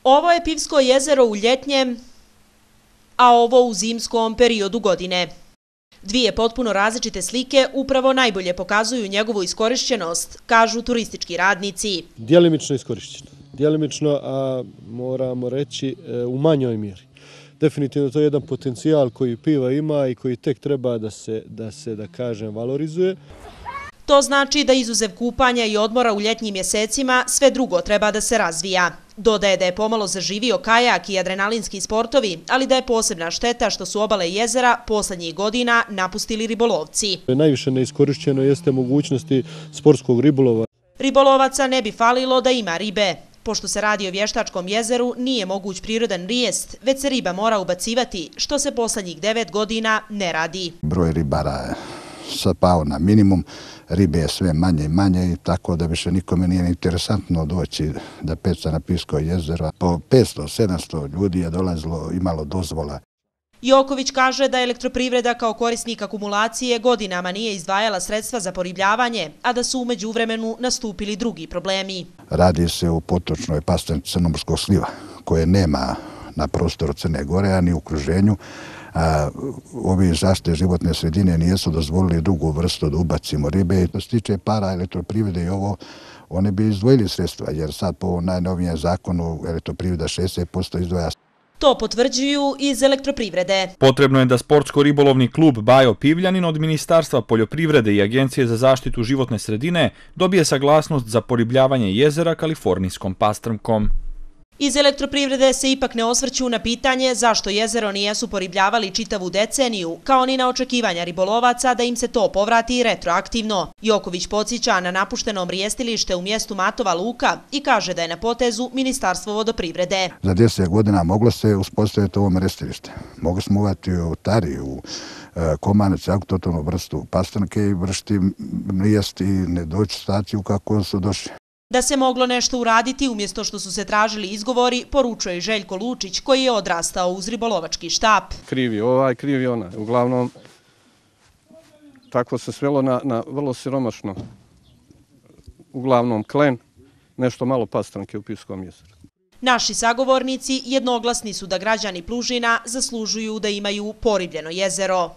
Ovo je Pivsko jezero u ljetnjem, a ovo u zimskom periodu godine. Dvije potpuno različite slike upravo najbolje pokazuju njegovu iskorišćenost, kažu turistički radnici. Djelimično iskorišćeno. Djelimično, a moramo reći u manjoj mjeri. Definitivno to je jedan potencijal koji piva ima i koji tek treba da kažem, valorizuje. To znači da izuzev kupanja i odmora u ljetnjim mjesecima, sve drugo treba da se razvija. Dodaje da je pomalo zaživio kajak i adrenalinski sportovi, ali da je posebna šteta što su obale jezera posljednjih godina napustili ribolovci. Najviše neiskorišćeno jeste mogućnosti sportskog ribolova. Ribolovaca ne bi falilo da ima ribe. Pošto se radi o vještačkom jezeru, nije moguć prirodan rijest, već se riba mora ubacivati, što se posljednjih 9 godina ne radi. Broj ribara je sad pao na minimum, ribe je sve manje i manje, tako da više nikome nije interesantno doći da peca na Pivsko jezero. Po 500-700 ljudi je dolazilo, imalo dozvola. Joković kaže da Elektroprivreda kao korisnik akumulacije godinama nije izdvajala sredstva za poribljavanje, a da su u međuvremenu nastupili drugi problemi. Radi se u potočnoj pastranici Crnomorskog sliva, koje nema na prostoru Crne Gore, a ni u okruženju. Ovi zaštite životne sredine nisu dozvolili drugu vrstu da ubacimo ribe. Što se tiče para Elektroprivrede i ovo, oni bi izdvojili sredstva, jer sad po najnovijem zakonu Elektroprivreda 60% izdvaja. To potvrđuju iz Elektroprivrede. Potrebno je da sportsko-ribolovni klub Bajo Pivljanin od Ministarstva poljoprivrede i Agencije za zaštitu životne sredine dobije saglasnost za poribljavanje jezera kalifornijskom pastrmkom. Iz Elektroprivrede se ipak ne osvrću na pitanje zašto jezero nijesu poribljavali čitavu deceniju, kao ni na očekivanja ribolovaca da im se to povrati retroaktivno. Joković podsjeća na napušteno mrijestilište u mjestu Matova Luka i kaže da je na potezu Ministarstvo vodoprivrede. Za 10 godina moglo se uspostaviti ovo mrijestilište. Mogli smo uvati u Tari, u Komanac, autohtonu vrstu pastrnke i vršiti mrijest i ne doći u staciju kako su došli. Da se moglo nešto uraditi umjesto što su se tražili izgovori, poručuje Željko Lučić, koji je odrastao uz ribolovački štap. Krivi ovaj, krivi onaj. Uglavnom, tako se svelo na vrlo siromašno. Uglavnom klen, nešto malo pastrnke u Pivskom jezeru. Naši sagovornici jednoglasni su da građani Plužina zaslužuju da imaju poribljeno jezero.